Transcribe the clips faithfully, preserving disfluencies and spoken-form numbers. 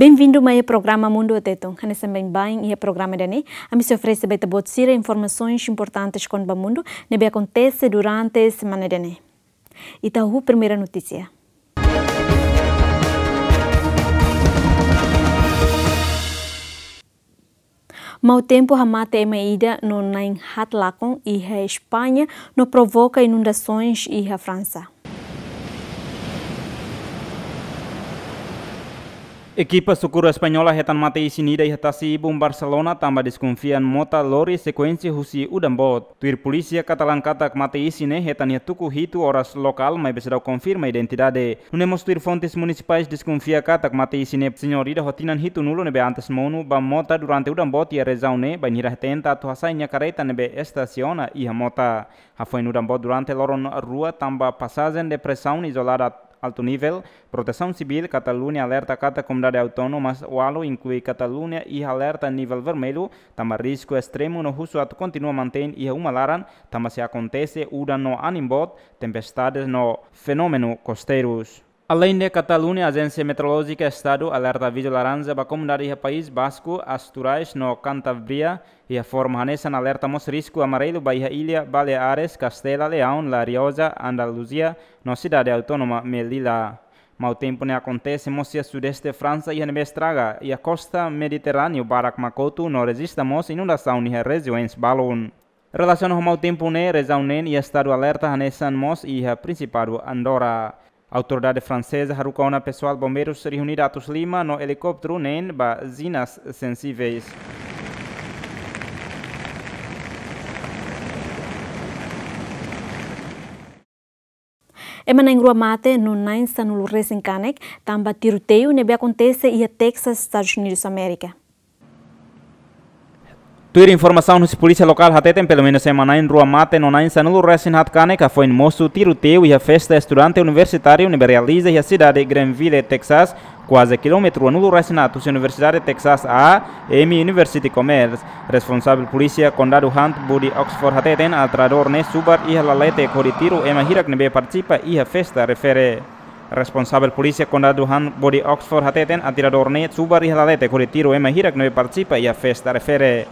Bem-vindo mai programa Mundu Tetun. Hanesan baibain iha programa ida-ne'e, ami sei oferese ba ita-boot sira informasaun importante kona-ba mundu ne'ebé akontese durante semana ida-ne'e. Ita hahú primeira notísia. Mau tempu hamate ema ida no na'in haat lakon iha España no provoka inundasoens iha Fransa. Ekipa sokuru española hetan mate-isin ida iha tasi-ibun Barcelona tanba deskonfia mota lori sekuénsia husi udan boot. Tuir polísia, katalan katak mate-isin ne'e hetan iha tuku hitu oras lokál, maibé seidauk konfirma identidade. Nune'e mós tuir fontes munisipais deskonfia katak mate-isin ne'e señór ida ho tinan hitunulu ne'ebé antes monu ba mota durante udan boot iha rejiaun ne'e, bainhira tenta atu hasai nia karreta ne'ebé estasiona iha mota. Hafoin udan boot durante loron rua tanba pasajen depresaun izolada altu nivel, Protesaun Sivíl Kataluña alerta katak komunidade autónoma ualu inklui Kataluña iha alerta nivel vermellu, tanba risku estremu no husu atu kontinua mantein iha uma laran, tanba sei akontese udan no anin boot, tempestades no fenómenu kosteirus. Aleinde Kataluña, Ajénsia Meteorolójika Estadu alerta avizu laranja ba komunidade iha País Basku, Asturais no Kantabria, iha forma hanesan alerta mós risku amarelu ba iha illa Baleares, Kastela, Leaun, La Rioja, Andaluzia no sidade autónoma Melilla. Mau tempu ne'e akontese mós iha sudeste Fransa, iha ne'ebé estraga iha kosta Mediterráneu barak mak kotu no rejista mós inundasaun iha rejiaun balun. Relasiona ho mau tempu ne'e, rejiaun neen iha estadu alerta hanesan mós iha Prinsipadu Andorra. Autoridade franseza haruka ona pesoál bombeirus rihun ida atus lima no elikópteru neen ba zinas sensiveis. Ema na'in rua mate no na'in sanulu resin kanek tanba tiroteiu ne'ebé akontese iha Texas, Estadus Unidus Amérika. Tuir informasaun husi polísia lokál hateten, pelumenus ema na'in rua mate no na'in sanulu resin haat kanek hafoin mosu tiroteiu iha festa estudante universitáriu ne'ebé realiza iha sidade Greenville, Texas, kuaze kilómetru ruanulu resin haat husi Universidade Texas A M University Commerce. Responsavel polísia Kondadu Hunt Body Oxford hateten, atiradór ne'e subar iha laletek hodi tiru ema hirak ne'ebé partisipa iha festa refere. Responsavel polísia Kondadu Hunt Body Oxford hateten, atiradór ne'e subar iha laletek hodi tiru ema hirak ne'ebé partisipa iha festa refere.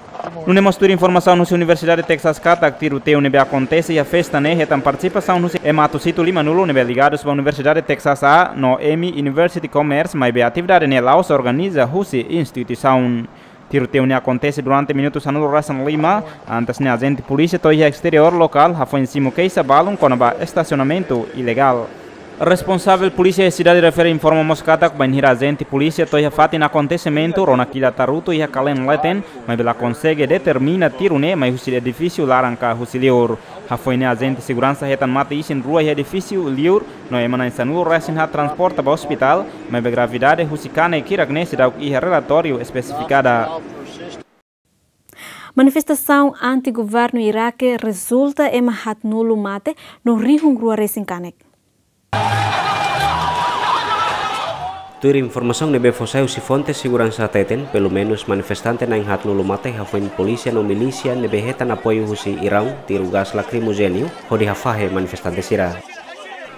Nune'e mós tuir informasaun husi Universidade Texas katak tiroteiu ne'ebé akontese iha festa ne'e hetan partisipasaun husi ema atus hitu limanulu ne'ebé ligadus ba Universidade Texas A no M University Commerce, maibé atividade ne'e la'ós organiza husi instituisaun. Tiroteiu ne'e akontese durante minutu sanulu resin lima, antes ne'e ajente polísia to'o iha esteriór lokál hafoin simu keixa balun kona-ba estasionamentu ilegál. Responsavel polísia iha sidade refere informa mós katak bainhira ajente polísia to'o iha fatin akontesimentu, rona kila tarutu iha kalen leten, maibé la konsege determina tiru ne'e mai husi edifísiu laran ka husi liur. Hafoin ne'e ajente seguransa hetan mate-isin rua iha edifísiu liur, no ema na'in sanulu resin haat transporta ba ospitál, maibé gravidade husi kanek hirak ne'e seidauk iha relatóriu espesifikada. Manifestasaun anti-governu Iraque rezulta ema haatnulu mate no rihun rua resin kanek. Tuir informasaun ne'ebé fó sai husi fonte seguransa hateten, pelumenus manifestante na'in haatnulu mate hafoin polísia no milísia ne'ebé hetan apoiu husi Iraun tiru gás lakrimojéneu hodi hafahe manifestante sira.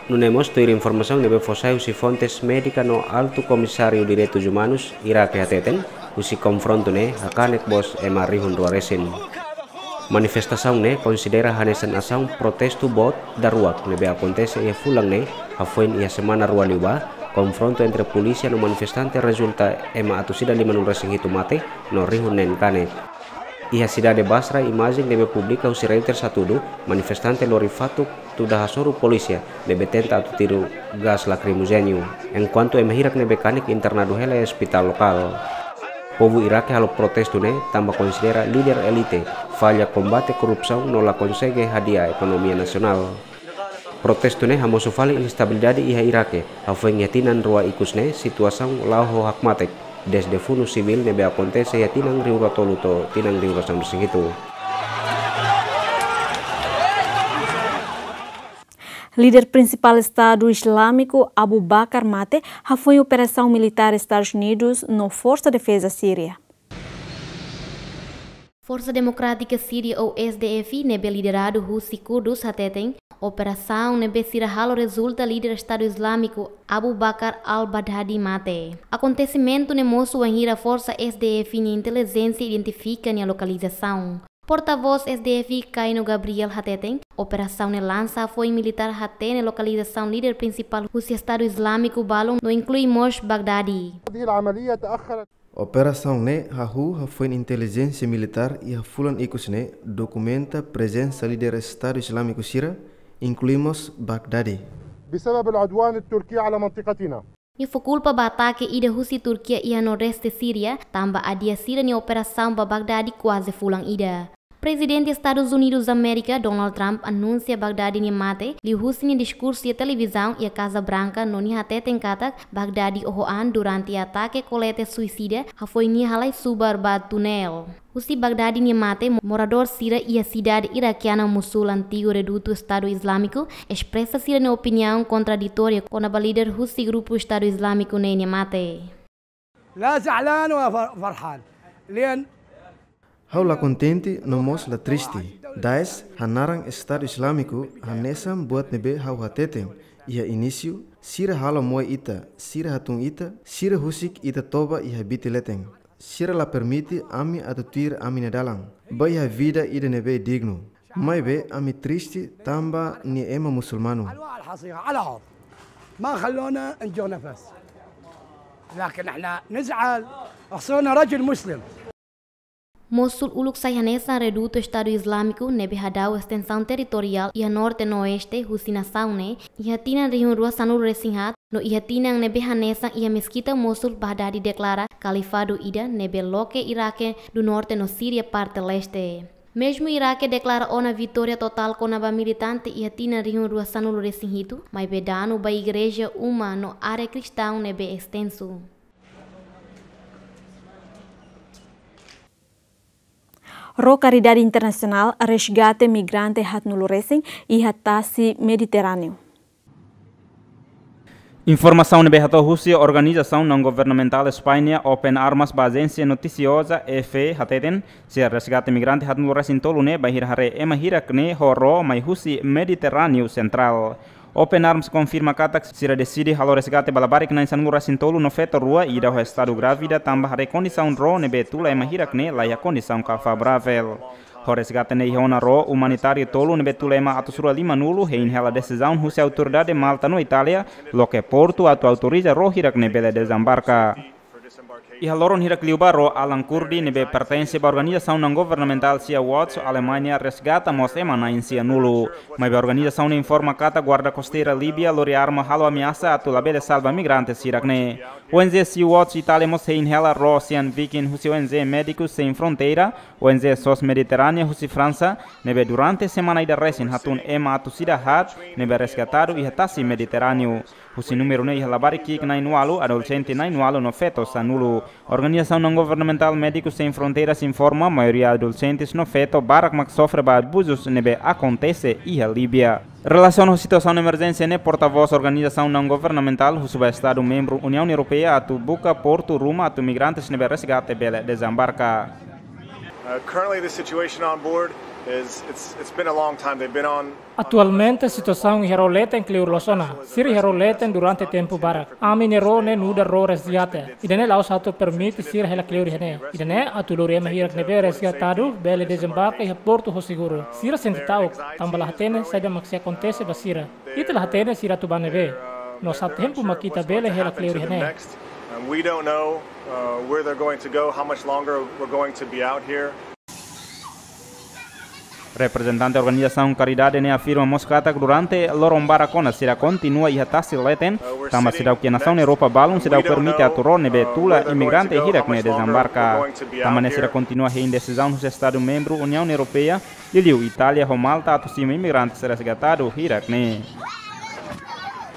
Nune'e mós tuir informasaun ne'ebé fó sai husi fontes médika no Altu Komisáriu Direitus Umanus Iraque hateten, husi konfrontu ne'e hakanek mós ema rihun rua resin. Manifestasaun ne'e konsidera hanesan asaun protestu boot daruak ne'ebé akontese iha fulan ne'e, hafoin iha semana rua liubá, konfrontu entre polísia no manifestante rezulta ema atus ida limanulu resin hitu mate no rihun neen kanek. Iha sidade Basra, imajen ne'ebé publika husi Reuters hatudu, manifestante lori fatuk tuda hasoru polísia ne'ebé tenta atu tiru gás lakrimojéneu, enkuantu ema hirak ne'ebé kanek internadu hela iha ospitál lokál. Povu Iraque halo protestu ne'e tanba konsidera líder elite falla kombate korrupsaun no la konsege hadi'a ekonomia nasionál. Protestu ne'e hamosu fali instabilidade iha Iraque, hafoin iha tinan rua ikus ne'e situasaun la'o ho hakmatek, dezde funu sivíl ne'ebé akontese iha tinan rihun rua tolu to'o tinan rihun rua sanulu resin hitu. Líder prinsipál Estadu Islamiku Abu Bakar mate hafoin operasaun militár Estadus Unidus no Forsa Defeza Síria. Forsa Demokrátika Síria ou S D F ne'ebé lideradu husi Kurdus hateten, Operasaun ne'ebé sira halo rezulta líder Estadu Izlámiku Abu Bakar al-Baghdadi mate. Akontesimentu ne'e mosu wainhira forsa S D F nia intelijénsia identifika nia lokalizasaun. Portavós S D F Kaino Gabriel hateten, operasaun ne'e lansa hafoin militár hatene lokalizasaun líder prinsipál husi Estadu Izlámiku balun no inklui mós Baghdadi. هذه العملية تأخرت. Operasaun ne'e hahú hafoin intelijénsia militár iha fulan ikus ne'e dokumenta prezensa líder Estadu Izlámiku sira, inklui mós Baghdadi. بسبب العدوان التركي على منطقتنا. Nia fó kulpa ba atake ida husi Turkia iha nordeste Síria, tanba adia sira-nia operasaun ba Baghdadi kuaze fulan ida. Prezidente Estadus Unidus Amérika, Donald Trump, anunsia Baghdadi nia mate, liuhusi nia diskursu iha televizaun iha Kaza Branka, no nia hateten katak Baghdadi oho an durante atake kolete suisida, hafoin nia halai subar ba tunel. Husi Baghdadi nia mate, moradór sira iha sidade irakiana Mosul, antigu redutu Estadu Izlámiku, espresa sira-nia opiniaun kontraditória kona-ba líder husi grupu Estadu Izlámiku ne'e nia mate. لا زعلان ولا فر-، فرحان. لأن Ha'u la kontente no mós la triste. Daesh hanaran Estadu Izlámiku hanesan buat ne'ebé ha'u hateten iha inísiu, sira halo moe ita, sira hatún ita, sira husik ita toba iha biti leten. Sira la permite ami atu tuir ami-nia dalan, ba iha vida ida ne'ebé dignu. Maibé ami triste tanba nia ema musulmanu. على الحصيرة، على الأرض. ما خلونا نجو نفس. لكن احنا نزعل، خصوصا رجل مسلم. Mosul uluk sai hanesan redutu Estadu Izlámiku ne'ebé hadau estensaun territoriál iha norte no oeste husi nasaun ne'e, iha tinan rihun rua sanulu resin haat, no iha tinan ne'ebé hanesan iha meskita Mosul Baghdadi deklara kalifadu ida ne'ebé loke Iraque do Norte no Síria parte leste. Mezmu Iraque deklara ona vitória totál kona-ba militante iha tinan rihun rua sanulu resin hitu, maibé danu ba igreja uma no área kristaun ne'ebé estensu. Ró karidade internasionál resgate migrante haatnulu resin iha tasi Mediterráneu. Informasaun ne'ebé hato'o husi organizasaun naun-governamentál España Open Arms ba ajénsia notisioza E F E hateten, sira resgate migrante haatnulu resin tolu ne'e bainhira haree ema hirak ne'e ho ró mai husi Mediterráneu Sentrál. Open Arms konfirma katak sira deside halo resgate ba labarik na'in sanulu resin tolu no feto rua ida ho estadu grávida tanba haree kondisaun ró ne'ebé tula ema hirak ne'e laiha kondisaun ka favoravel. Ho resgate ne'e iha ona ró umanitáriu tolu ne'ebé tula ema atus rua limanulu hein hela desizaun husi autoridade Malta no Itália loke portu atu autoriza ró hirak ne'e bele dezembarka. Iha loron hirak liubá ró Alan Kurdi ne'ebé pertense ba organizasaun naun-governamentál Sea Watch Alemanha resgata mós ema na'in sianulu. Maibé organizasaun ne'e informa katak guarda kosteira Líbia lori arma halo ameasa atu labele salva migrante hirak ne'e. O N G Sea Watch Itália mós hein hela ró Ocean Viking husi O N G Médicos Sem Fronteira, O N G sos Mediterránea husi Fransa, ne'ebé durante semana ida resin hatún ema atus ida haat ne'ebé resgatadu iha tasi Mediterráneu. Husi númeru ne'e iha labarik ki'ik na'in ualu, adolexente na'in ualu no feto sanulu. Organizasaun naun-governamentál Médicos Sem Fronteiras informa maioria adolexentes no feto barak mak sofre ba abuzus ne'ebé akontese iha Líbia. Relasiona ho situasaun emerjénsia ne'e, portavós organizasaun naun-governamentál husu ba estadu membru Uniaun Europeia atu buka portu ruma atu migrantes ne'ebé resgate bele dezembarka. Uh, currently, the situation on board is, it's, it's been a long time. They've been on Atualmente situasaun iha ró leten kleur loos ona. Sira iha ró leten durante tempu barak. Ami-nia ró ne'e nu'udar ró resgate. Ida-ne'e la'ós atu permite sira hela kleur iha ne'e. Ida-ne'e atu lori ema hirak ne'ebé resgatadu bele dezembarka iha portu ho seguru. Sira sente ta'uk, tanba la hatene saida mak sei akontese ba sira. Ita la hatene sira atu bá ne'ebé. No sá tempu mak ita bele hela kleur iha ne'e. And we don't know, uh, where they're going to go, how much longer we're going to be out here. Reprezentante organizasaun karidade ne'e afirma mós katak durante loron barak ona sira kontinua iha tasi leten, tanba seidauk iha nasaun Europa balun seidauk permite atu ró ne'ebé tula imigrante hirak ne'e dezembarka. Tanba ne'e sira kontinua hein desizaun husi estadu membru Uniaun Europeia, liuliu Itália ho Malta atu simu imigrantes resgatadu hirak ne'e.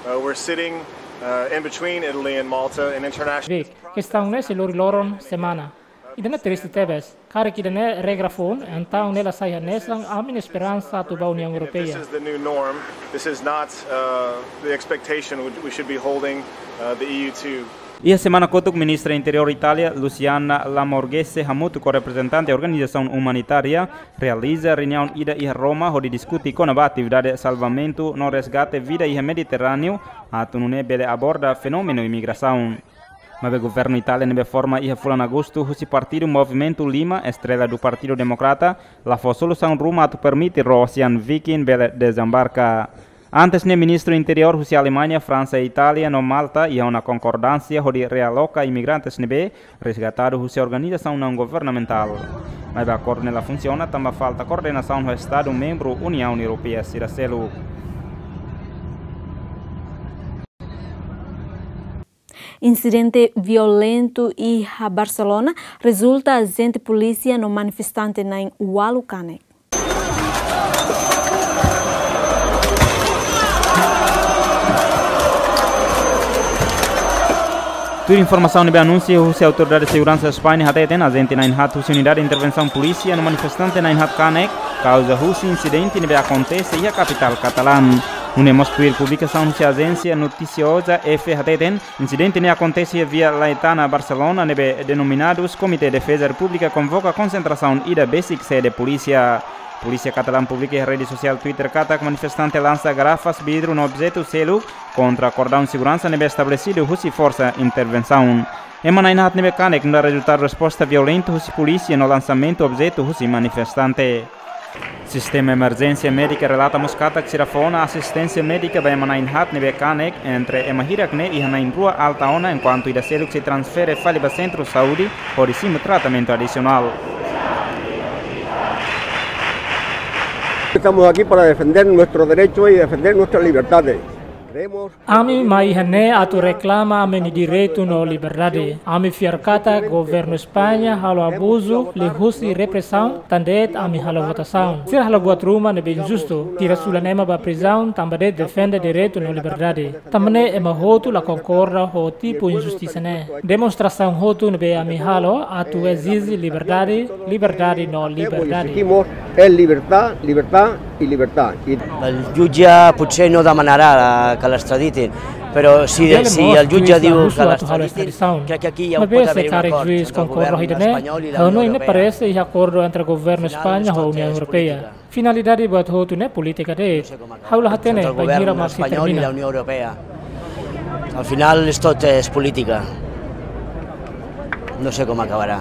Uh, we're sitting, uh, in between Italy and Malta, an international Vik, kestaun ne'e sei lori loron semana. Ida-ne'e triste tebes. Karik ida-ne'e regra foun, entaun ne'e la sai hanesan ami-nia esperansa atu bá Uniaun Europeia. This is the new norm. This is not, uh, the expectation we, we should be holding, uh, the E U to. Iha semana kotuk, Ministra Interiór Itália, Luciana Lamorgese, hamutuk ho reprezentante organizasaun umanitária, realiza reuniaun ida iha Roma, hodi diskute kona-ba atividade salvamentu no resgate vida iha Mediterráneu, atu nune'e bele aborda fenómenu imigrasaun. Maibé governu Itália ne'ebé forma iha fulan Agostu husi partidu Movimentu Lima, estrela do Partidu Demokrata, la fó solusaun ruma atu permite Rosian Viking bele dezembarka. Antes ne'e, ministru interiór husi Alemaña, Fransa, Itália no Malta iha ona konkordánsia hodi realoka imigrantes ne'ebé resgatadu husi organizasaun naun-governamentál. Maibé akordu ne'e la funsiona tanba falta koordenasaun ho estadu membru Uniaun Europeia sira seluk. Insidente violentu iha Barcelona rezulta ajente polísia no manifestante na'in ualu kanek. Tuir informasaun ne'ebé anunsia husi autoridade seguransa España hateten, ajente na'in haat husi unidade intervensaun polísia no manifestante na'in haat kanek, kauza husi insidente ne'ebé akontese iha kapitál Katalán. Nune'e mós tuir publikasaun husi ajénsia notisioza F hateten, insidente ne'e akontese iha Via Laietana, Barcelona, ne'ebé denominadus Komité Defeza Repúblika konvoka konsentrasaun ida besik sede polísia. Polísia Katalán publika iha rede sosiál Twitter katak manifestante lansa garrafas vidru no objetu seluk kontra kordaun seguransa ne'ebé estabelesidu husi forsa intervensaun. Ema na'in haat ne'ebé kanek nu'udar rezultadu resposta violentu husi polísia no lansamentu objetu husi manifestante. Sistema emerjénsia médika relata mós katak sira fó ona asisténsia médika ba ema na'in haat ne'ebé kanek, entre ema hirak ne'e iha na'in rua alta ona, enkuantu ida seluk sei transfere fali ba sentru saúde hodi simu tratamentu adisionál. Estamos aquí para defender nuestro derecho y defender nuestras libertades. Creemos Ami mai iha ne'e atu reklama ami-nia direitu no liberdade. Ami fiar katak governu España halo abuzu liuhusi represaun, tan de'it ami halo votasaun. Sira halo buat ruma ne'ebé injustu, tira sulan ema ba prizaun tanba de'it defende direitu no liberdade. Tanba ne'e ema hotu la konkorda ho tipu injustisa ne'e. Demonstrasaun hotu ne'ebé ami halo atu ezije liberdade, liberdade no liberdade. Exigimos es libertad, libertad y libertad. Y El jutge potser no demanarà que l'estraditen, però si, Bele si mós el jutge juís diu husu que atu halo l'estraditen, estradisaun. Crec que aquí hi ha, Maibé pot se haver un karik acord juís entre el konkorda govern ida ne'e, espanyol i la Unió Europea. Ha'u hanoin ne'e parese iha akordu entre governu España ho Uniaun Europeia. Finalidade buat hotu ne'e polítika de'it. Ha'u la hatene bainhira mak sei termina. Al final es tot es política. No sé cómo acabará.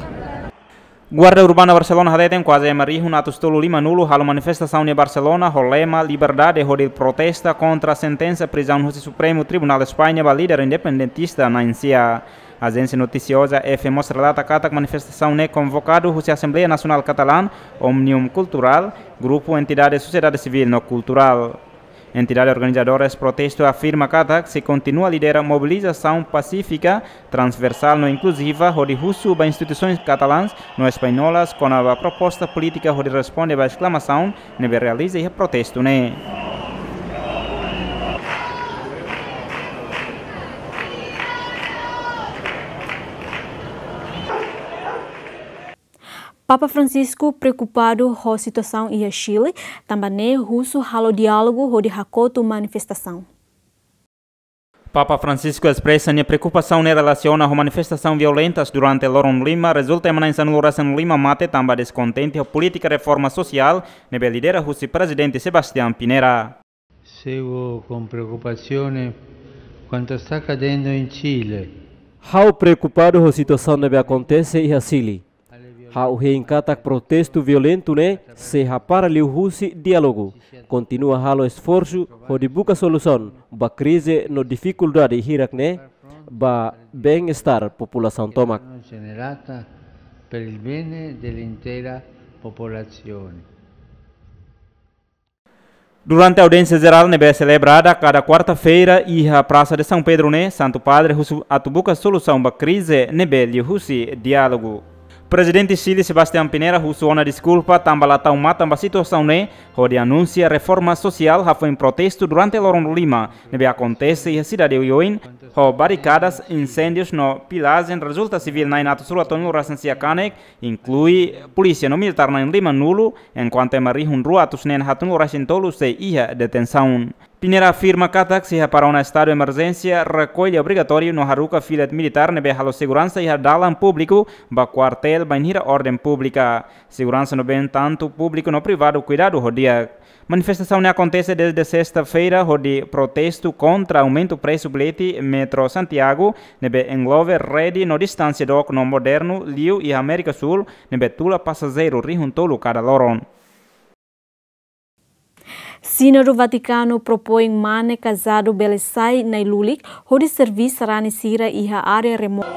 Guarda Urbana Barcelona hateten kuaze ema rihun atus tolu lima-nulu halo manifestasaun iha Barcelona ho lema liberdade hodi protesta kontra sentensa prizaun husi Supremu Tribunál España ba líder independentista na'in sia. Ajénsia notisioza F mós relata katak manifestasaun ne'e konvokadu husi Asembleia Nasionál Katalán, Òmnium Kulturál, grupu entidade sosiedade sivíl no kulturál. Entidade organizadora protestu afirma katak sei kontinua lidera mobilizasaun pasífika, transversál no inkluziva hodi husu ba instituisoens katalãs no españolas kona-ba proposta polítika hodi responde ba esklamasaun ne'ebé realiza iha protestu ne'e. Papa Francisco preokupadu ho situasaun iha Chile, tanba ne'e husu halo diálogu hodi hakotu manifestasaun. Papa Francisco espresa nia preokupasaun ne'e relasiona ho manifestasaun violentas durante loron lima, rezulta ema na'in sanulu-resin-lima mate tanba deskontente ho polítika reforma sosiál ne'ebé lidera husi Prezidente Sebastián Pinera. Seguo con preoccupazione quanto sta accadendo in Cile. Ha'u preokupadu ho situasaun ne'ebé akontese iha Chile. Ha'u hein katak protestu violentu ne'e sei hapara liuhusi diálogu. Kontinua halo esforsu hodi buka solusaun ba krize no difikuldade hirak ne'e ba bem-estar populasaun tomak. Generata per il bene dell'intera popolazione. Durante audiénsia jerál ne'ebé selebrada kada kuarta-feira iha Praça de São Pedro ne'e, Santu Padre husu atu buka solusaun ba krize ne'ebé liuhusi diálogu. Prezidente Chile Sebastián Pinera husu ona deskulpa tanba la tau matan ba situasaun ne'e, hodi anunsia reforma sosiál hafoin protestu durante loron lima ne'ebé akontese iha sidade oioin, ho barikadas, inséndius no pilajen, rezulta sivíl na'in atus rua tolu resin sia kanek, inklui polísia no militár na'in lima-nulu, enkuantu ema rihun rua atus neen haatnulu resin tolu sei iha detensaun. Piñera afirma katak sei hapara ona estadu emerjénsia, rekolla obrigatóriu no haruka fila militár ne'ebé halo seguransa iha dalan públiku ba kuartél bainhira orden públika. Seguransa no been tantu públiku no privadu kuidadu ho di'ak. Manifestasaun ne'e akontese dezde sesta-feira hodi protestu kontra aumentu presu bilhete metrô Santiago, ne'ebé englobe rede no distánsia dook no modernu liu iha Amérika Súl, ne'ebé tula pasajeiru rihun tolu kada loron. Sínodu Vatikanu propoin Mane Casado bele sai nai-lulik hodi serví sarani sira iha área remota.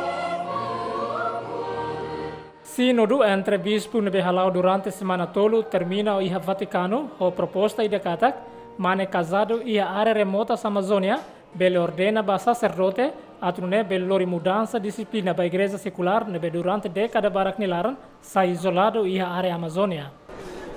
Sínodu entre bispu ne'ebé hala'o durante semana tolu termina iha Vatikanu ho proposta ida katak Mane Casado iha área remotas Amazónia bele ordena ba saserdote, atu nune'e bele lori mudansa dixiplina ba igreja sekulár ne'ebé durante dékada barak nia laran sai izoladu iha área Amazónia.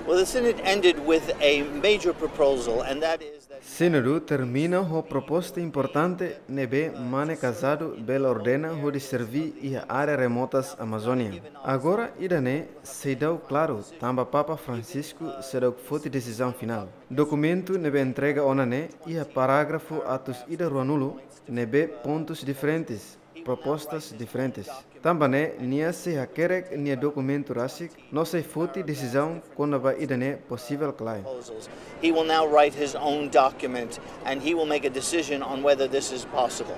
Well, the Synod ended with a major proposal, and that is that Sínodu termina ho proposta importante ne'ebé Mane Casado bele ordena hodi serví iha área remotas Amazónia. Agora ida-ne'e seidauk klaru, tanba Papa Francisco seidauk foti desizaun finál. Dokumentu ne'ebé entrega ona ne'e iha parágrafu atus ida ruanulu ne'ebé pontus diferentes, propostas diferentes. Tanba ne'e nia sei hakerek nia dokumentu rasik no sei foti desizaun kona-ba ida-ne'e posivel klae. He will now write his own document and he will make a decision on whether this is possible.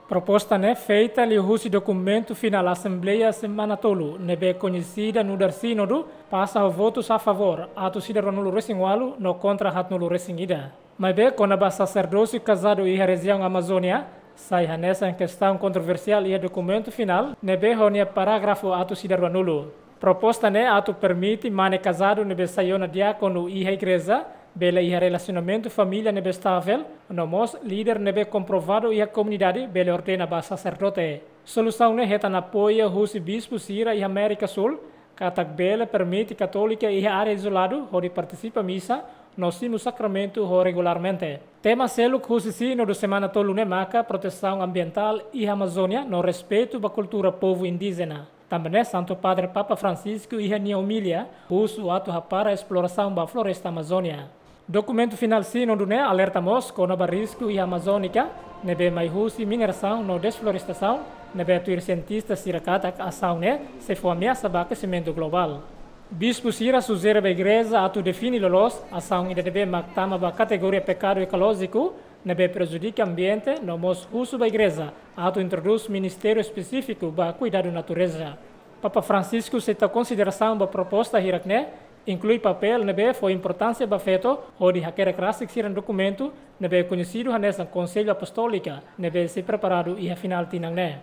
Proposta ne'e feita liuhusi dokumentu finál Asembleia semana tolu, ne'ebé koñesida nu'udar Sínodu, pasa ho votus a favór atus ida ruanulu resin ualu no kontra haatnulu resin ida. Maibé kona-ba saserdósiu kazadu iha rejiaun Amazónia, sai hanesan kestaun kontroversiál iha dokumentu finál ne'ebé ho nia parágrafu atus ida ruanulu. Proposta ne'e atu permite mane kazadu ne'ebé sai ona diákonu iha igreja bele iha relasionamentu família ne'ebé estável, no mós líder ne'ebé komprovadu iha komunidade bele ordena ba saserdote. Solusaun ne'e hetan apoiu husi bispu sira iha Amérika Súl, katak bele permite katólika iha área izoladu hodi partisipa misa no simu sakramentu ho regularmente. Tema seluk husi Sínodu semana tolu ne'e maka protesaun ambientál iha Amazónia no respeitu ba kultura povu indíjena. Tanba ne'e Santu Padre Papa Francisco iha nia omilia husu atu hapara esplorasaun ba floresta Amazónia. Dokumentu finál Sínodu ne'e alerta mós kona-ba risku iha Amazónia ne'ebé mai husi minerasaun no desflorestasaun, ne'ebé tuir sientista sira katak asaun ne'e sei fó ameasa ba akesimentu globál. Bispu sira sujere ba igreja atu define loloos asaun ida ne'ebé mak tama ba kategoria pekadu ekolójiku, ne'ebé prejudika ambiente, no mós husu ba igreja atu introdús ministériu espesífiku ba kuidadu natureza. Papa Francisco sei tau konsiderasaun ba proposta hirak ne'e, inklui papél ne'ebé fó importánsia ba feto hodi hakerek rasik sira-nia dokumentu ne'ebé koñesidu hanesan Konsellu Apostólika, ne'ebé sei preparadu iha finál tinan ne'e.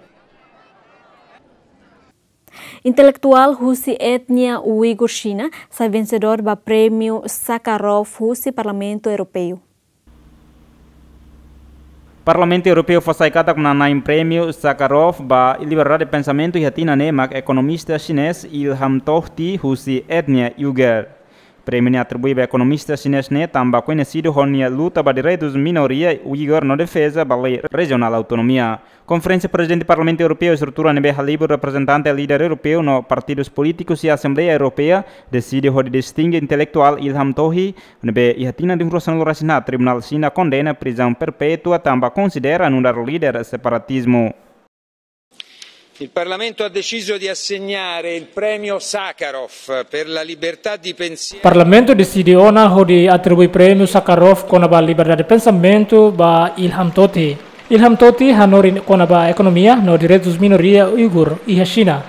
Intelektuál husi etnia Uigur Xina sai vensedór ba Prémiu Sakharov husi Parlamentu Europeu. Parlamentu Europeu fó sai katak manán-na'in Prémiu Sakharov ba liberdade pensamentu iha tinan ne'e mak ekonomista xinés Ilham Tohti husi etnia Uigur. Prémiu ne'e atribui ba ekonomista xinés ne'e tanba koñesidu ho nia luta ba direitus minoria Uigur no defeza ba lei rejionál autonomia. Konferénsia Prezidente Parlamentu Europeu, estrutura ne'ebé halibur reprezentante líder europeu no partidus polítikus iha Asembleia Europeia, deside hodi destinge intelektuál Ilham Tohti, ne'ebé iha tinan rihun rua sanulu resin haat Tribunál Xina kondena prizaun perpétua tanba konsidera nu'udar líder separatizmu. Il Parlamento ha deciso di assegnare il premio Sakharov per la libertà di pensiero. Parlamentu deside ona hodi atribui Prémiu Sakharov kona-ba liberdade pensamentu ba Ilham Tohti. Ilham Tohti hanorin kona-ba ekonomia no direitus minoria Uigur iha Xina.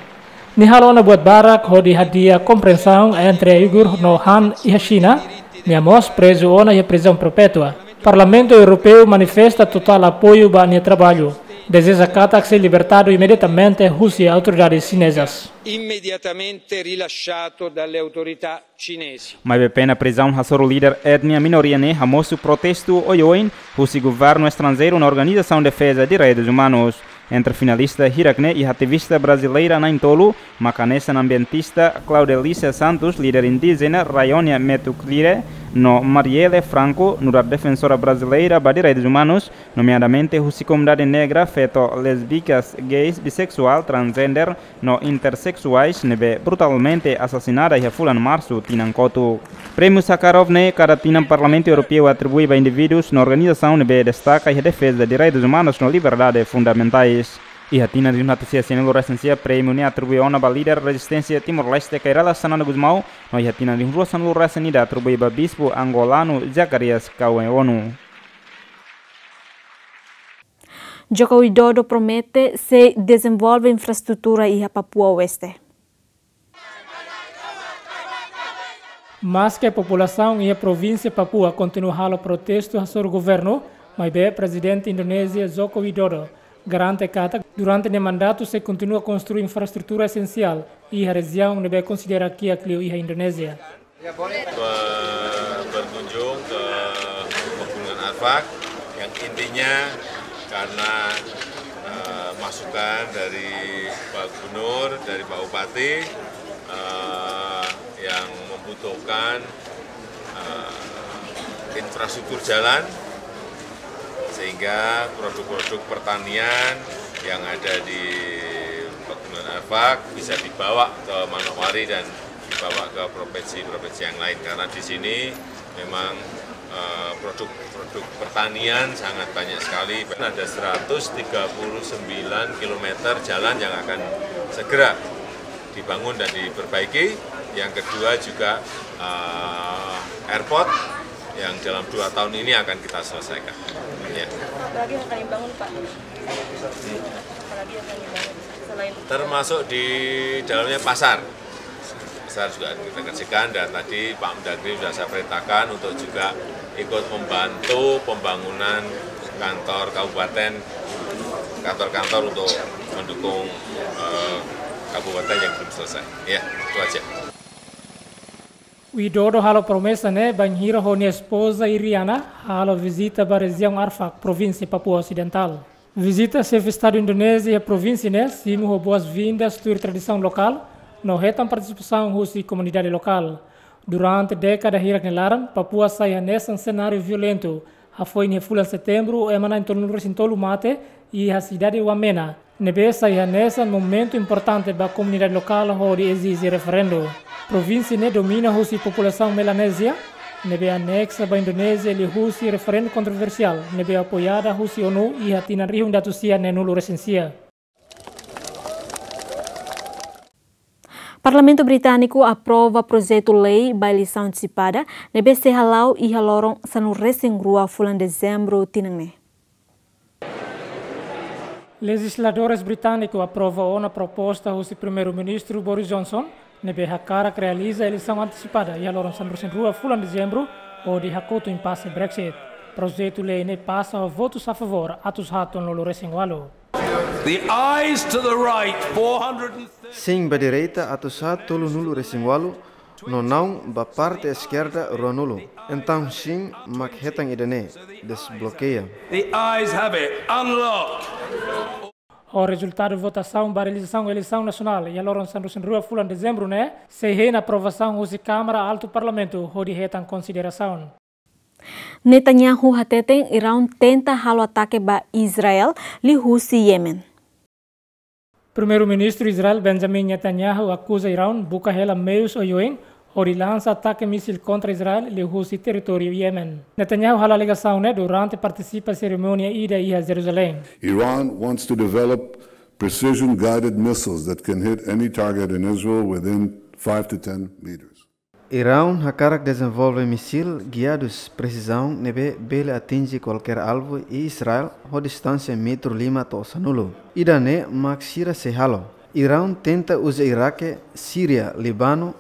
Nia halo ona buat barak hodi hadi'a kompriensaun entre Uigur no Han iha Xina. Nia mós prezu ona iha prizaun perpétua. Parlamentu Europeu manifesta totál apoiu ba nia traballu. Dezeja katak sei libertadu imediatamente husi autoridades xinezas. Immediatamente rilasciato dalle autorità cinesi. Maibé pena prizaun hasoru líder etnia minoria ne'e hamosu protestu oioin husi governu estranjeiru no organizasaun defeza direitus umanus. Entre finalista hirak ne'e iha ativista brazileira na'in-tolu, mak hanesan ambientista Claudelícia Santos, líder indíjena Raionia Metuclire, no Marielle Franco, nu'udar defensora brazileira ba direitus umanus, nomeadamente husi komunidade negra, feto, lésbicas, gays, bissexual, transgender, no intersexuais ne'ebé brutalmente asasinada iha fulan Marsu tinan kotuk. Prémiu Sakharov ne'e kada tinan Parlamentu Europeu atribui ba indivíduus no organizasaun ne'ebé destaka iha defeza direitus umanus no liberdade fundamentais. Iha tinan rihun atus sia sianulu resin sia prémiu ne'e atribui ona ba líder rezisténsia Timor-Leste Kay Rala Xanana Gusmão, no iha tinan rihun rua sanulu resin ida atribui ba bispu angolanu Zacarias Cauê Ono. Joko Widodo promete sei dezenvolve infraestrutura iha Papua Oeste. Maske populasaun iha provínsia Papua kontinua halo protestu hasoru governu, maibé Prezidente Indonézia Joko Widodo garante katak durante nia mandatu sei kontinua konstrui infraestrutura esensiál iha rejiaun ne'ebé konsidera kiak liu iha Indonézia. Be-, berkunjung ke Pegunungan Arfak, yang intinya karena, eh, masukan dari Pak Gubernur, dari Pak Bupati, eh, yang membutuhkan, eh, infrastruktur jalan, sehingga produk-produk pertanian yang ada di Pegunungan Arfak bisa dibawa ke Manokwari dan dibawa ke provinsi-provinsi yang lain, karena di sini memang, eh, produk-produk pertanian sangat banyak sekali. Ada seratus tiga puluh sembilan kilometer jalan yang akan segera dibangun dan diperbaiki. Yang kedua juga, eh, airport yang dalam dua tahun ini akan kita selesaikan. Ya. Apalagi yang akan dibangun, Pak? Apalagi yang akan dibangun selain Termasuk di dalamnya pasar. Pasar juga akan kita kerjakan, dan tadi Pak Mendagri sudah saya perintahkan untuk juga ikut membantu pembangunan kantor kabupaten, kantor-kantor untuk mendukung, eh, kabupaten yang belum selesai. Ya, itu aja. Widodo halo promesa ne'e bainhira ho nia espoza Iriana halo vizita ba rejiaun Arfak, provínsia Papua Osidentál. Vizita Xefe Estadu Indonézia iha provínsia ne'e simu ho boas-vindas tuir tradisaun lokál no hetan partisipasaun husi komunidade lokál. Durante dékada hirak nia laran, Papua sai hanesan senáriu violentu. Hafoin iha fulan Setembru, ema na'in tolunulu resin tolu mate iha sidade Wamena, ne'ebé sai hanesan momentu importante ba komunidade lokál hodi ezije referendu. Provínsia ne'e domina husi populasaun Melanézia, ne'ebé aneksa ba Indonézia liuhusi referendu kontroversiál ne'ebé apoiada husi ONU iha tinan rihun ida atus sia neenulu resin sia. Parlamentu Britániku aprova projetu lei ba eleisaun antesipada ne'ebé sei hala'o iha loron sanulu resin rua fulan Dezembru tinan ne'e. Lejizladores britániku aprova ona proposta husi Primeiru-Ministru Boris Johnson, ne'ebé hakarak realiza eleisaun antesipada iha loron sanulu resin rua fulan Dezembru, hodi hakotu impase Brexit. Projetu lei ne'e pasa ho votus a favór atus haat tolunulu resin ualu. The ayes to the right, four hundred and thirty. Sin ba direita atus haat tolunulu resin ualu, no naun ba parte eskerda ruanulu. Entaun sin mak hetan ida-ne'e, desblokeia. The ayes have it. Unlock. Ho rezultadu votasaun ba realizasaun eleisaun nasionál iha loron sanulu resin rua fulan Dezembru ne'e, sei hein aprovasaun husi Kámara Altu Parlamentu hodi hetan konsiderasaun. Netanyahu hateten Iraun tenta halo atake ba Israel liuhusi Yemen. Primeiru-Ministru Israel Benjamin Netanyahu akuza Iraun buka hela meius oioin hodi lansa atake mísil kontra Israel liuhusi territóriu Yemen. Netanyahu halo alegasaun ne'e durante partisipa serimónia ida iha Jerusalém. Iran wants to develop precision-guided missiles that can hit any target in Israel within five to ten meters. Iraun hakarak dezenvolve mísil giadus presizaun ne'ebé bele atinje kualkér alvu iha Israel ho distánsia metru lima to'o sanulu. Ida-ne'e mak sira sei halo. Iraun tenta uza Iraque, Síria, Líbanu,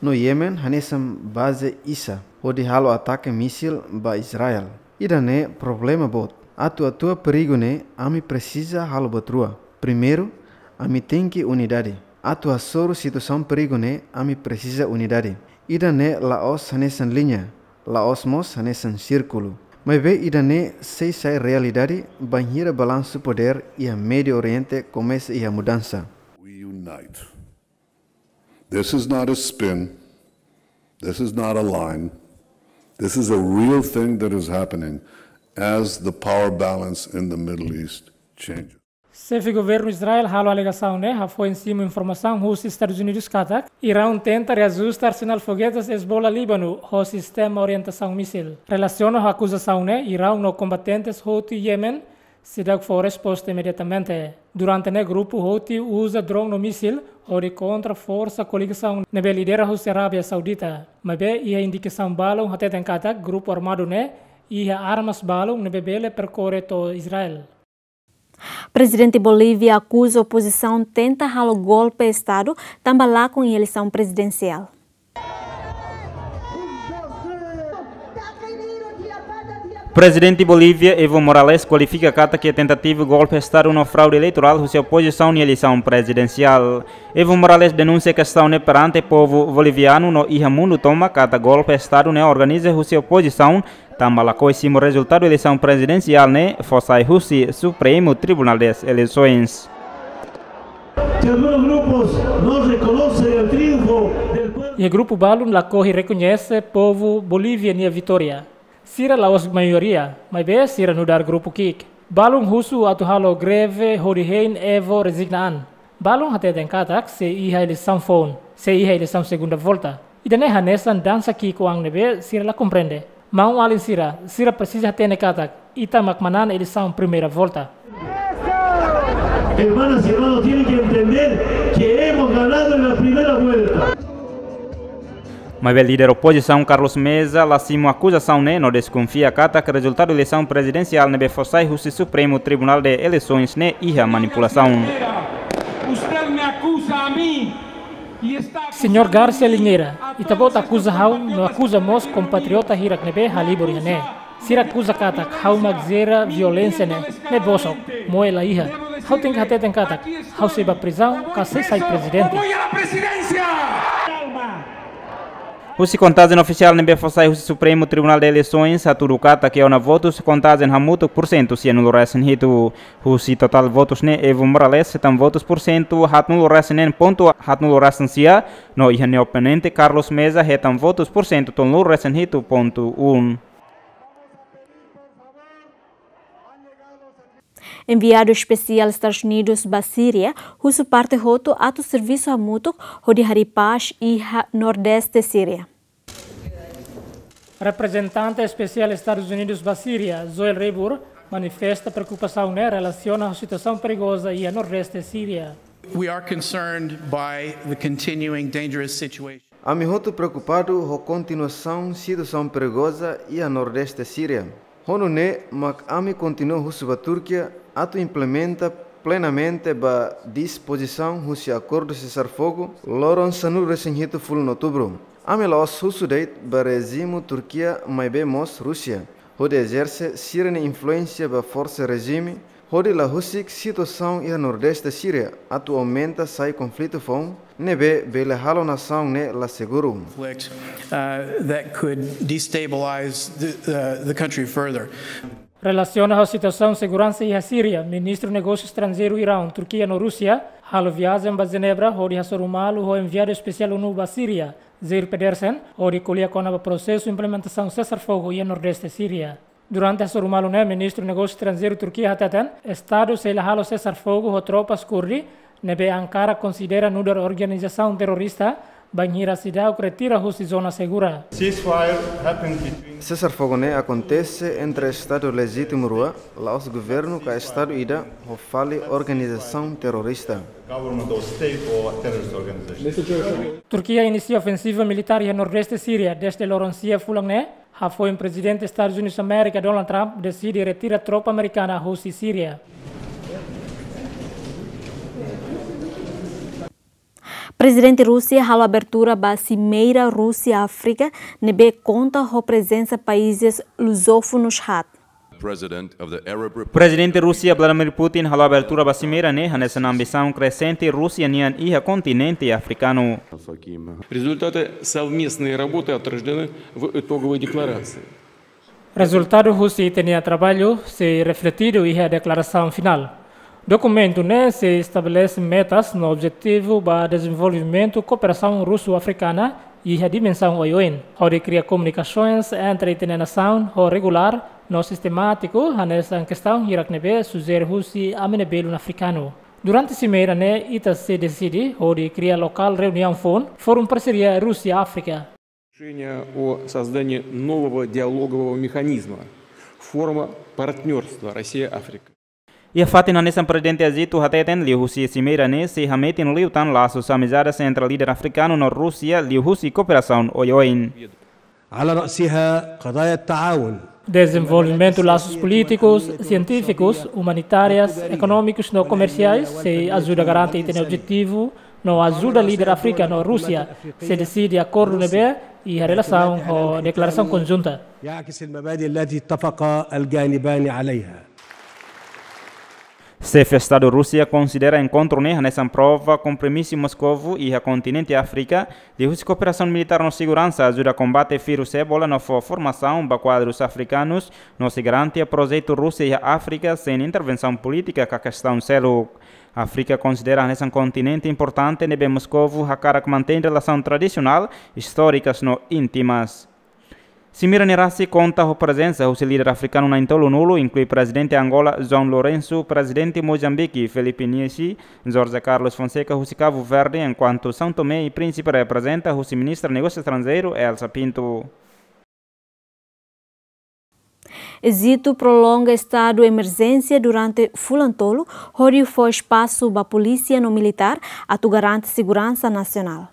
no Yemen hanesan baze ida hodi halo atake mísil ba Israel. Ida-ne'e problema boot. Atu atua perigu ne'e, ami presiza halo buat rua. Primeiru, ami tenke unidade. Atu hasoru situasaun perigu ne'e, ami presiza unidade. Ida-ne'e la'ós hanesan liña, la'ós mós hanesan sírkulu. Maibé ida-ne'e sei sai realidade bainhira balansu podér iha Médiu Oriente komesa iha mudansa. We unite. This is not a spin. This is not a line. This is a real thing that is happening as the power balance in the Middle East changes. Xefe governu Israel halo alegasaun ne'e hafoin simu informasaun husi Estadus Unidus katak Iraun tenta reajusta arsenál fogetes Hezbollah Líbanu ho sistema orientasaun mísil. Relasiona ho akuzasaun ne'e, Iraun no kombatentes Houthi Yemen seidauk fó resposta imediatamente. Durante ne'e grupu Houthi uza drone no mísil hodi kontra forsa koligasaun ne'ebé lidera husi Arábia Saudita. Maibé iha indikasaun balun hateten katak grupu armadu ne'e iha armas balun ne'ebé bele perkorre to'o Israel. Prezidente Bolívia akuza opozisaun tenta halo golpe estadu tanba lakon iha eleisaun prezidensiál. Prezidente Bolívia Evo Morales kualifika katak iha tentativa golpe estadu no fraude eleitorál husi opozisaun iha eleisaun prezidensiál. Evo Morales denunsia kestaun ne'e perante povu bolivianu no iha mundu tomak katak golpe estadu ne'e organiza husi opozisaun, tanba lakohi simu rezultadu eleisaun prezidensiál ne'e fó sai husi Supremu Tribunál das Eleições. Que algunos grupos no reconocen el triunfo del pueblo. Iha grupu balun lakohi rekoñese povu Bolívia nia vitória. Sira la'ós maioria, maibé sira nu'udar grupu ki'ik. Balun husu atu halo greve hodi hein Evo rezigna an. Balun hateten katak sei iha eleisaun foun, sei iha eleisaun segunda volta. Ida-ne'e hanesan dansa ki'ik-oan ne'ebé sira la komprende. Maun-alin sira, sira presiza hatene katak ita mak manán eleisaun primeira volta. Hermanas y hermanos tienen que entender que hemos ganado en la primera vuelta. Maibé líder opozisaun Carlos Mesa la simu akuzasaun ne'e no deskonfia katak rezultadu eleisaun prezidensiál ne'ebé fó sai husi Supremu Tribunál de Eleições ne'e iha manipulasaun. Usted me acusa a mí y está acusando... Señór Garcia Linera, ita-boot akuza ha'u no akuza mós kompatriota hirak ne'ebé halibur iha ne'e. Sira akuza katak ha'u mak jera violénsia ne'e, ne'e bosok, moe la iha. Ha'u tenke hateten katak ha'u sei ba prizaun ka sei sai prezidente. Husi kontajen ofisiál ne'ebé fó sai husi Supremu Tribunál de Eleições hatudu katak iha ona votus kontajen hamutuk pursentu sianulu-resin-hitu. Husi totál votus ne'e Evo Morales hetan votus pursentu haatnulu-resin-neen pontu haatnulu-resin-sia, no iha nia oponente Carlos Mesa hetan votus pursentu tolunulu-resin-hitu pontu un. Enviadu espesiál Estadus Unidus ba Síria husu parte hotu atu servisu hamutuk hodi harii pás iha Nordeste Síria. Reprezentante Espesiál Estadus Unidus ba Síria, Joel Reibur, manifesta preokupasaun ne'e relasiona ho situasaun perigoza iha Nordeste Síria. We are concerned by the continuing dangerous situation. Ami hotu preokupadu ho kontinuasaun situasaun perigoza iha Nordeste Síria. Ho nune'e mak ami kontinua husu ba Turkia atu implementa plenamente ba dispozisaun husi akordu sesar-fogu loron sanulu-resin-hitu fulan Outubru. Ami la'ós husu de'it ba rejimu Turkia maibé mós Rúsia, hodi ezerse sira-nia influénsia ba forsa rejime, hodi la husik situasaun iha Nordeste Síria atu aumenta sai konflitu foun, ne'ebé bele halo nasaun ne'e la seguru. Conflict, uh, that could destabilize the, uh, the country further. Relasiona ho situasaun seguransa iha Síria, Ministru Negósiu Estranjeiru Iraun, Turkia no Rúsia halo viajen ba Jenebra hodi hasoru malu ho enviadu espesiál ONU ba Síria, Geir Pedersen, hodi ko'alia kona-ba prosesu implementasaun sesar-fogu iha Nordeste Síria. Durante hasoru malu ne'e, Ministru Negósiu Estranjeiru Turkia hateten, Estadu sei la halo sesar-fogu ho tropas Kurdi ne'ebé Ankara konsidera nu'udar organizasaun terrorista, bainhira seidauk retira husi zona segura. Ceasefire happened between... Sesar-fogu ne'e akontese entre Estadu lejitimu rua, la'ós governu ka Estadu ida, ho fali organizasaun terrorista. Government or state or terrorist organization. Turkia inisia ofensiva militár iha Nordeste Síria dezde loron sia fulan ne'e, hafoin Prezidente Estadus Unidus Amérika, Donald Trump, deside retira tropa amerikana husi Síria. Prezidente Rúsia halo abertura ba Simeira Rúsia-Áfrika, ne'ebé konta ho prezensa países luzófonus haat. President of the Arab Rep- Prezidente Rúsia Vladimir Putin halo abertura ba simeira ne'e hanesan ambisaun krexente Rúsia nian iha kontinente afrikanu. Результаты совместной работы отражены в итоговой декларации. Rezultadu husi ita-nia traballu sei refletidu iha deklarasaun finál. Dokumentu ne'e sei estabelese metas no objetivu ba dezenvolvimentu kooperasaun rúsiu-afrikana iha dimensaun oioin, hodi kria komunikasoens entre ita-nia nasaun ho regulár no sistemátiku hanesan kestaun hirak ne'ebé sujere husi ami-nia belun afrikanu. Durante simeira ne'e ita sei deside hodi kria lokál reuniaun foun Fórum Parseria Rúsia-Áfrika. Решение о создании нового диалогового механизма, форума партнёрства Россия-Африка. Iha fatin hanesan Prezidente Azito hateten, liuhusi simeira ne'e sei hametin liután lasus amizade entre líder afrikanu no Rúsia liuhusi kooperasaun oioin. على رأسها قضايا التعاون. Dezenvolvimentu lasus polítikus, sientífikus, umanitárias, ekonómikus no komersiais sei ajuda garante ita-nia objetivu no ajuda líder Áfrika no Rúsia sei deside akordu ne'ebé iha relasaun ho deklarasaun konjunta. يعكس المبادئ التي اتفق الجانبان عليها. Xefe Estadu Rúsia konsidera enkontru ne'e hanesan prova kompromisu Moskovu iha kontinente Áfrika, liuhusi kooperasaun militár no seguransa, ajuda kombate vírus Ebola no fó formasaun ba kuadrus afrikanus, no sei garantia projetu Rúsia iha Áfrika sein intervensaun polítika ka kestaun seluk. Áfrika konsidera hanesan kontinente importante ne'ebé Moskovu hakarak mantein relasaun tradisionál, istórikas no íntimas. Simeira ne'e rasik konta ho prezensa husi líder afrikanu na'in-tolunulu, inklui Prezidente Angola, João Lourenço, Prezidente Mozambike, Filipe Nyusi, José Carlos Fonseca husi Kabu Verdi, enkuantu São Tomé e Príncipe reprezenta husi Ministra Negósiu Estranjeiru, Elsa Pinto. Ejitu prolonga estadu emerjénsia durante fulan tolu, hodi fó espasu ba polísia no militár atu garante seguransa nasionál.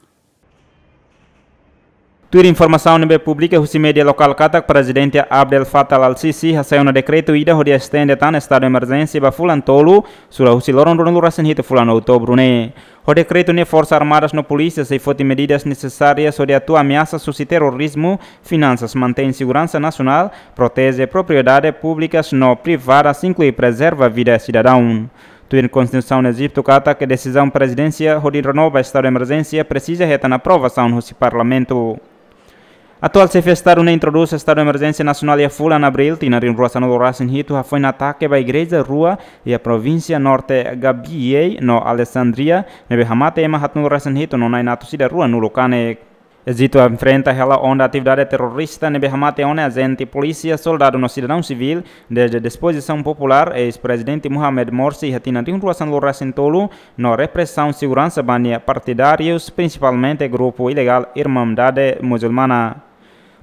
Tuir informasaun ne'ebé publika husi média lokál katak Prezidente Abdel Fattah al-Sisi hasai ona dekretu ida hodi estende tan estadu emerjénsia ba fulan tolu, sura husi loron ruanulu-resin-hitu fulan Outubru ne'e. Ho dekretu ne'e Forsas Armadas no polísia sei foti medidas nesesárias hodi atua ameasas husi terrorizmu, finansas, mantein seguransa nasionál, proteje propriedade públikas no privadas, inklui prezerva vida sidadaun. Tuir Konstituisaun Ejitu katak desizaun prezidénsia hodi renova estadu emerjénsia presiza hetan aprovasaun husi parlamentu. Atuál xefe estadu ne'e introdús estadu emerjénsia nasionál iha fulan Abríl, tinan rihun rua sanulu-resin-hitu, hafoin atake ba igreja rua iha provínsia Norte Gambia no Alexandria, ne'ebé hamate ema haatnulu-resin-hitu no na'in atus ida ruanulu kanek. Ejitu enfrenta hela onda atividade terrorista ne'ebé hamate ona ajente polísia, soldadu no sidadaun sivíl, dezde dispozisaun populár eis-prezidente Mohamed Morsi iha tinan rihun rua sanulu-resin-tolu, no represaun seguransa ba nia partidárius, prinsipalmente grupu ilegál Irmandade Musulmana.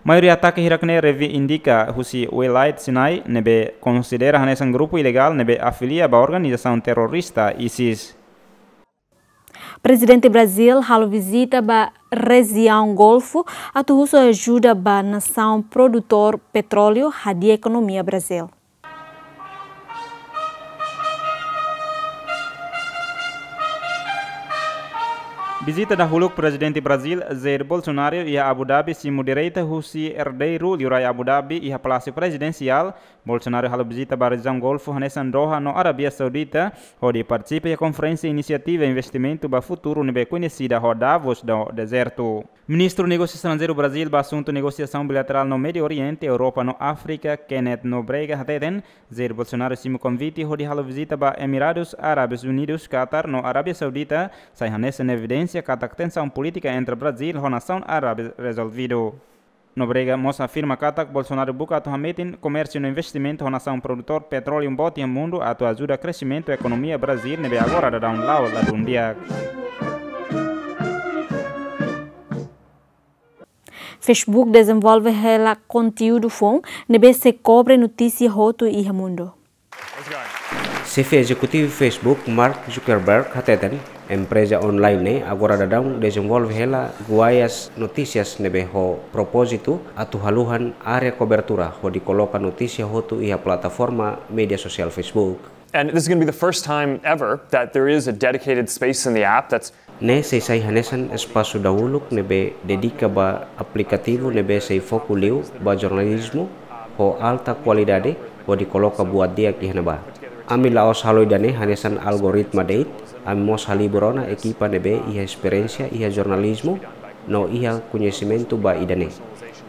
Maioria atake hirak ne'e reivindika husi Wilayat Sinai, ne'ebé konsidera hanesan grupu ilegál ne'ebé afilia ba organizasaun terrorista ISIS. Prezidente Brazíl halo vizita ba rejiaun Golfu atu husu ajuda ba nasaun produtór petróleu hadi'a ekonomia Brazíl. Vizita dahuluk Prezidente Brazíl Jair Bolsonaro iha Abu Dhabi simu direta husi erdeiru liurai Abu Dhabi iha Palásiu Prezidensiál. Bolsonaro halo vizita ba rejiaun Golfu hanesan Doha no Arábia Saudita, hodi partisipa iha konferénsia inisiativa investimentu ba futuru ne'ebé koñesida ho Davos do Deserto. Ministru Negósiu Estranjeiru Brazíl ba asuntu negosiasaun bilaterál no Médiu Oriente, Europa no Áfrika, Kenneth Nobrega hateten, Jair Bolsonaro simu konvite hodi halo vizita ba Emiradus Árabes Unidus, Katar no Arábia Saudita, sai hanesan evidénsia katak tensaun polítika entre Brazíl ho nasaun árabe rezolvidu. Nobrega mós afirma katak Bolsonaro buka atu hametin komérsiu no investimentu ho nasaun produtór petróleu boot iha mundu atu ajuda kresimentu ekonomia Brazíl ne'ebé agora daudaun la'o ladún di'ak. Facebook dezenvolve hela konteúdu foun ne'ebé sei kobre notísia hotu iha mundu. Xefe ezekutivu Facebook, Mark Zuckerberg, hateten, empreza online ne'e agora daudaun dezenvolve hela guaias notísias ne'ebé ho propózitu atu haluhan área kobertura hodi koloka notísia hotu iha plataforma média sosiál Facebook. And this is going to be the first time ever that there is a dedicated space in the app that's Ne'e sei sai hanesan espasu dahuluk ne'ebé dedika ba aplikativu ne'ebé sei foku liu ba jornalizmu ho alta kualidade hodi koloka buat di'ak iha ne'ebá. Ami la'ós halo ida-ne'e hanesan algoritma de'it, ami mós halibur ona ekipa ne'ebé iha esperiénsia iha jornalizmu no iha koñesimentu ba ida-ne'e.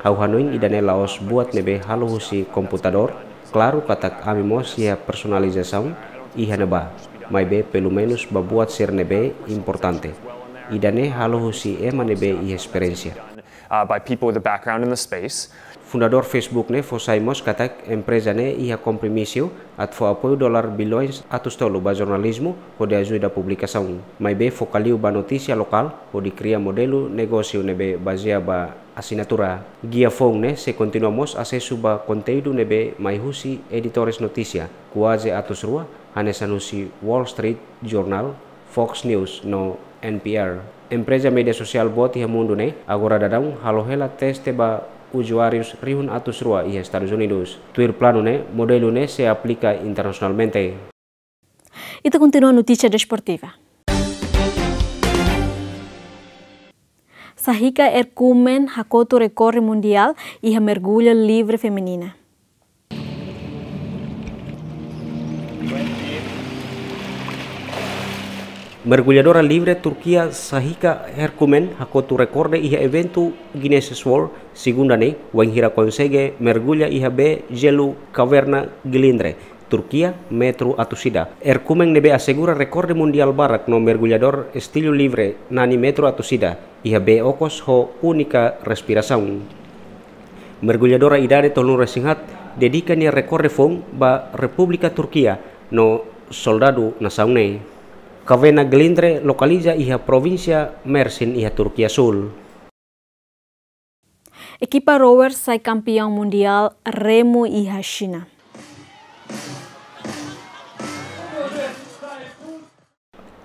Ha'u hanoin ida-ne'e la'ós buat ne'ebé halo husi komputadór, klaru katak ami mós iha personalizasaun iha ne'ebá, maibé pelumenus ba buat sira ne'ebé importante. Ida-ne'e halo husi ema ne'ebé iha esperiénsia. uh, by people with a background in the space. Fundadór Facebook ne'e fó sai mós katak empreza ne'e iha kompromisu atu fó apoiu dolar bilhões atus tolu ba jornalizmu hodi ajuda publikasaun. Maibé foka liu ba notísia lokál hodi kria modelu negósiu ne'ebé bazeia ba asinatura. Gia foun ne'e sei kontinua mós asesu ba konteúdu ne'ebé mai husi editores notísia, kuaze atus rua, hanesan husi Wall Street Journal, Fox News no N P R. Empreza média sosiál boot iha mundu ne'e agora daudaun halo hela teste ba uzuárius rihun atus rua iha Estadus Unidus. Tuir planu ne'e, modelu ne'e sei aplika internasionalmente. Ita kontinua notísia desportiva. Sahika Erkumen hakotu rekorde mundiál iha mergullu livre feminina. Mergulladora livre Turkia Sahika Erkumen hakotu rekorde iha eventu Guinness World segunda ne'e, wainhira konsege mergulla iha bee jelu Kaverna Gilindre, Turkia, metru atus ida. Erkumen ne'ebé asegura rekorde mundiál barak no mergulladór estilu livre nani metru atus ida iha bee okos ho únika respirasaun. Mergulladora idade tolunulu-resin-haat dedika nia rekorde foun ba Repúblika Turkia no soldadu nasaun ne'e. Kaverna Gilindre lokaliza iha provínsia Mersin iha Turkia Súl. Ekipa rowers sai kampeaun mundiál remu iha Xina.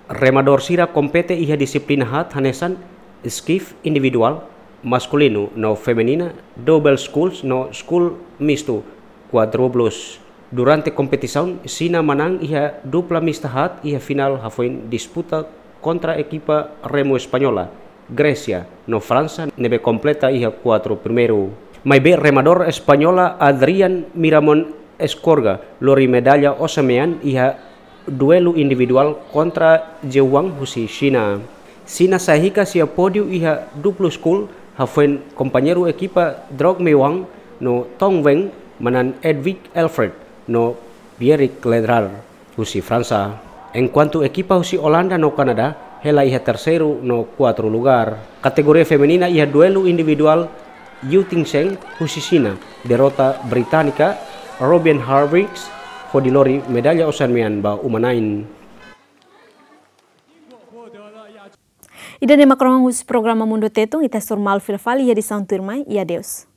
Remadór sira kompete iha dixiplina haat hanesan skiff individuál, maskulinu no feminina, double sculls no scull mistu, quadrubles. Durante kompetisaun, Xina manán iha dupla mista haat iha finál hafoin disputa kontra ekipa remu espanhola, Grésia no Fransa ne'ebé kompleta iha kuatru primeiru. Maibé remadór espanhola Adrián Miramón Escorga lori medalla osan-mean iha duelu individuál kontra Zhou Wang husi Xina. Xina sahika nia pódiu iha duplu scull hafoin kompañeiru ekipa Drog Mei Wang no Tong Weng manán Edwig Elfriet no Pierrick Ledrar husi Fransa. Enkuantu ekipa husi Olanda no Kanadá hela iha terseiru no kuatru lugár. Kategoria feminina iha duelu individuál, Yu Tingsheng husi Xina derrota británika Robin Harvix hodi lori medalla osan-mean ba uma-na'in. Ida-ne'e mak rohan husi programa Mundu Tetun, ita hasoru malu fila fali iha edisaun tuirmai, i adeus.